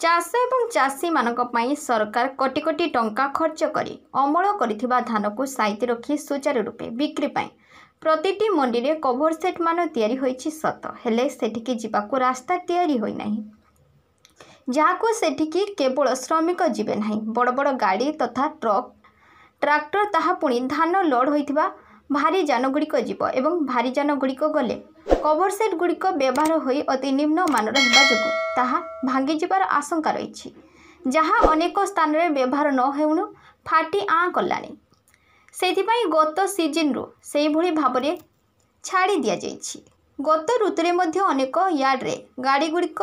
ଚାଷ ଏବଂ ଚାଷୀମାନଙ୍କ ପାଇଁ ସରକାର କୋଟି କୋଟି ଟଙ୍କା ଖର୍ଚ୍ଚ କରି ଅମଳ କରିଥିବା ଧାନକୁ ସାଇତି ରଖି ସୁଚାରୁ ରୂପେ ବିକ୍ରି ପାଇଁ ପ୍ରତିଟି ମଣ୍ଡିରେ କଭର ସେଟ୍ ମାନ ତିଆରି ହୋଇଛି ସତ, ହେଲେ ସେଠିକି ଯିବାକୁ ରାସ୍ତା ତିଆରି ହୋଇନାହିଁ। ଯାହାକୁ ସେଠିକି କେବଳ ଶ୍ରମିକ ଯିବେ ନାହିଁ, ବଡ଼ ବଡ଼ ଗାଡ଼ି ତଥା ଟ୍ରକ୍, ଟ୍ରାକ୍ଟର, ତାହା ପୁଣି ଧାନ ଲୋଡ୍ ହୋଇଥିବା ଭାରୀ ଯାନଗୁଡ଼ିକ ଯିବ ଏବଂ ଭାରୀ ଯାନଗୁଡ଼ିକ ଗଲେ କଭର ସେଟ୍ ଗୁଡ଼ିକ ବ୍ୟବହାର ହୋଇ ଅତି ନିମ୍ନମାନର ହେବା ଯୋଗୁଁ ତାହା ଭାଙ୍ଗିଯିବାର ଆଶଙ୍କା ରହିଛି, ଯାହା ଅନେକ ସ୍ଥାନରେ ବ୍ୟବହାର ନ ହେଉଣୁ ଫାଟି ଆଁ କଲାଣି। ସେଥିପାଇଁ ଗତ ସିଜିନ୍ରୁ ସେହିଭଳି ଭାବରେ ଛାଡ଼ି ଦିଆଯାଇଛି। ଗତ ଋତୁରେ ମଧ୍ୟ ଅନେକ ୟାର୍ଡ଼ରେ ଗାଡ଼ିଗୁଡ଼ିକ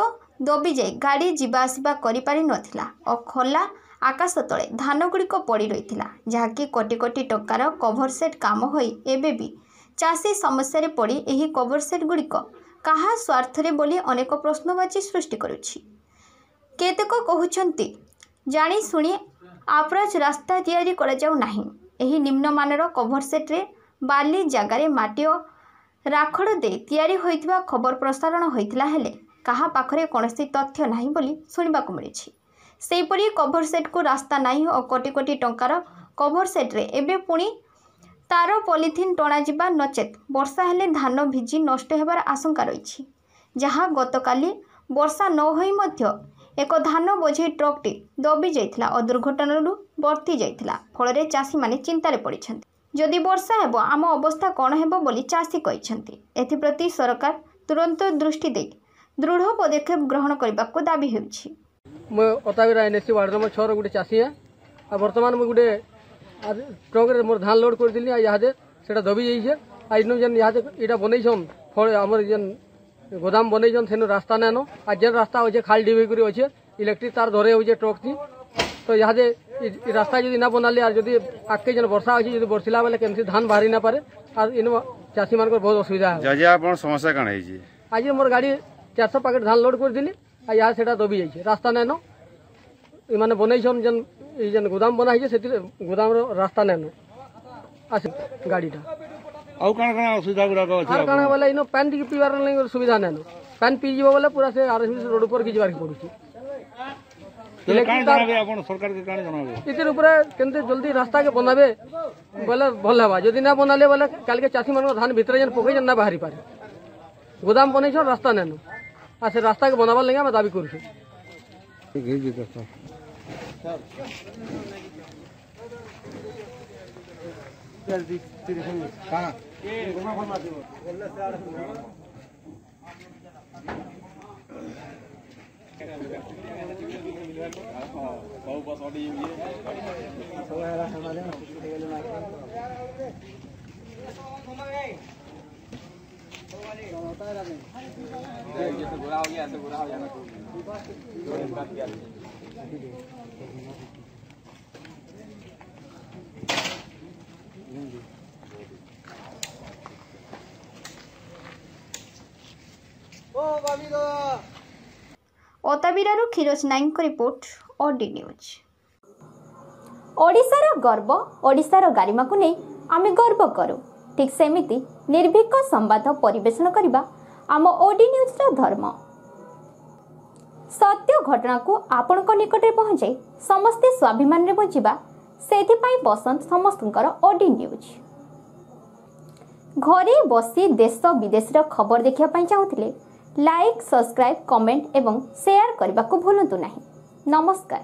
ଦବିଯାଇ ଗାଡ଼ି ଯିବା ଆସିବା କରିପାରି ନଥିଲା ଓ ଖୋଲା ଆକାଶ ତଳେ ଧାନଗୁଡ଼ିକ ପଡ଼ି ରହିଥିଲା, ଯାହାକି କୋଟି କୋଟି ଟଙ୍କାର କଭର ସେଟ୍ କାମ ହୋଇ ଏବେ ବି ଚାଷୀ ସମସ୍ୟାରେ ପଡ଼ି ଏହି କଭର ସେଟ୍ ଗୁଡ଼ିକ କାହା ସ୍ୱାର୍ଥରେ ବୋଲି ଅନେକ ପ୍ରଶ୍ନବାଚୀ ସୃଷ୍ଟି କରୁଛି। କେତେକ କହୁଛନ୍ତି ଜାଣିଶୁଣି ଆପ୍ରୋଚ୍ ରାସ୍ତା ତିଆରି କରାଯାଉ ନାହିଁ। ଏହି ନିମ୍ନମାନର କଭର ସେଟ୍ରେ ବାଲି ଜାଗାରେ ମାଟି ଓ ରାଖଡ଼ ଦେଇ ତିଆରି ହୋଇଥିବା ଖବର ପ୍ରସାରଣ ହୋଇଥିଲା, ହେଲେ କାହା ପାଖରେ କୌଣସି ତଥ୍ୟ ନାହିଁ ବୋଲି ଶୁଣିବାକୁ ମିଳିଛି। ସେହିପରି କଭର ସେଟ୍କୁ ରାସ୍ତା ନାହିଁ ଓ କୋଟି କୋଟି ଟଙ୍କାର କଭର ସେଟ୍ରେ ଏବେ ପୁଣି ତାର ପଲିଥିନ୍ ଟଣାଯିବା ନଚେତ୍ ବର୍ଷା ହେଲେ ଧାନ ଭିଜି ନଷ୍ଟ ହେବାର ଆଶଙ୍କା ରହିଛି, ଯାହା ଗତକାଲି ବର୍ଷା ନ ହୋଇ ମଧ୍ୟ ଏକ ଧାନ ବୋଝେଇ ଟ୍ରକ୍ଟି ଦବି ଯାଇଥିଲା ଓ ଦୁର୍ଘଟଣାରୁ ବର୍ତ୍ତି ଯାଇଥିଲା। ଫଳରେ ଚାଷୀମାନେ ଚିନ୍ତାରେ ପଡ଼ିଛନ୍ତି। ଯଦି ବର୍ଷା ହେବ ଆମ ଅବସ୍ଥା କ'ଣ ହେବ ବୋଲି ଚାଷୀ କହିଛନ୍ତି। ଏଥିପ୍ରତି ସରକାର ତୁରନ୍ତ ଦୃଷ୍ଟି ଦେଇ ଦୃଢ଼ ପଦକ୍ଷେପ ଗ୍ରହଣ କରିବାକୁ ଦାବି ହେଉଛି। ମୁଁ ଅତାବିରା ଏନ୍ଏସି ୱାର୍ଡ଼ ନମ୍ବର 6ର ଗୋଟେ ଚାଷୀ ହେ। ଆଉ ବର୍ତ୍ତମାନ ମୁଁ ଗୋଟେ ଟ୍ରକ୍ରେ ମୋର ଧାନ ଲୋଡ୍ କରିଥିଲି, ଆଉ ଇହାଦେ ସେଟା ଦବି ଯାଇଛେ। ଆଉ ଇନୁ ଯେନ୍ ଇହାଦେ ଏଇଟା ବନେଇଛନ୍, ଫଳ ଆମର ଯେନ୍ ଗୋଦାମ ବନେଇଛନ୍, ସେନୁ ରାସ୍ତା ନାଇନ। ଆଉ ଯେନ୍ ରାସ୍ତା ଅଛେ ଖାଲି ଡିବି କରି ଅଛେ, ଇଲେକ୍ଟ୍ରିକ୍ ତାର ଧରେ ହଉଛେ ଟ୍ରକ୍। ତ ଇହାଦେ ରାସ୍ତା ଯଦି ନା ବନାଲେ ଆର୍ ଯଦି ଆଗକେ ଯେନ୍ ବର୍ଷା ଅଛି, ଯଦି ବର୍ଷିଲା ବେଲେ କେମିତି ଧାନ ବାହାରି ନା ପାରେ, ଆର୍ ଇନୁ ଚାଷୀମାନଙ୍କର ବହୁତ ଅସୁବିଧା ହେବ। ଆଜି ଆପଣ ସମସ୍ୟା କାଣା ହେଇଛି? ଆଜି ମୋର ଗାଡ଼ି 400 ପ୍ୟାକେଟ୍ ଧାନ ଲୋଡ୍ କରିଥିଲି, ଆଉ ଇହା ସେଟା ଦବି ଯାଇଛି, ରାସ୍ତା ନାଇନ। ଏମାନେ ବନେଇଛନ୍ ଯେନ୍ ଏଇ ଯେନ୍ ଗୋଦାମ ବନା ହେଇଛେ, ସେଥିରେ ଗୋଦାମର ରାସ୍ତା ନାଇନ ଆସ ଗାଡ଼ିଟା। ଆଉ କାଣା କାଣା ଅସୁବିଧା ଗୁଡାକ ଅଛି? ଆର୍ କାଣା ବୋଲେ ଇନ ପାନ୍ ଟିକେ ପିଇବାର ଲାଗି ସୁବିଧା ନାଇନ। ପାନ୍ ପିଇଯିବ ବୋଲେ ପୁରା ସେ ଆର୍ ରୋଡ ଉପରକେ ଯିବାକେ ପଡୁଛି। କାଣା ଜଣାବେ ଆପଣ ସରକାରକେ, କାଣା ଜଣାବେ? ଏଥିର ଉପରେ କେମିତି ଜଲ୍ଦି ରାସ୍ତାକେ ବନାବେ ବୋଲେ ଭଲ ହେବା। ଯଦି ନା ବନାଲେ ବୋଲେ କାଲିକେ ଚାଷୀମାନଙ୍କ ଧାନ ଭିତରେ ଯେନ୍ ପକେଇଛନ୍ ନା ବାହାରି ପାରେ। ଗୋଦାମ ବନେଇଛନ୍, ରାସ୍ତା ନାଇନ, ଆଉ ସେ ରାସ୍ତାକେ ବନାବାର ଲାଗି ଆମେ ଦାବି କରୁଛୁ। ଅତାବିରାରୁ କ୍ଷୀରୋଜ ନାୟକଙ୍କ ରିପୋର୍ଟ, ଓଡି ନ୍ୟୁଜ୍। ଓଡ଼ିଶାର ଗର୍ବ, ଓଡ଼ିଶାର ଗାରିମାକୁ ନେଇ ଆମେ ଗର୍ବ କରୁ। ଠିକ୍ ସେମିତି ନିର୍ଭୀକ ସମ୍ବାଦ ପରିବେଷଣ କରିବା ଆମ ଓଡି ନ୍ୟୁଜ୍ର ଧର୍ମ। ସତ୍ୟ ଘଟଣାକୁ ଆପଣଙ୍କ ନିକଟରେ ପହଞ୍ଚାଇ ସମସ୍ତେ ସ୍ୱାଭିମାନରେ ବଞ୍ଚିବା, ସେଥିପାଇଁ ପସନ୍ଦ ସମସ୍ତଙ୍କର ଓଡି ନ୍ୟୁଜ୍। ଘରେ ବସି ଦେଶ ବିଦେଶର ଖବର ଦେଖିବା ପାଇଁ ଚାହୁଁଥିଲେ ଲାଇକ୍, ସବସ୍କ୍ରାଇବ୍, କମେଣ୍ଟ ଏବଂ ସେୟାର କରିବାକୁ ଭୁଲନ୍ତୁ ନାହିଁ। ନମସ୍କାର।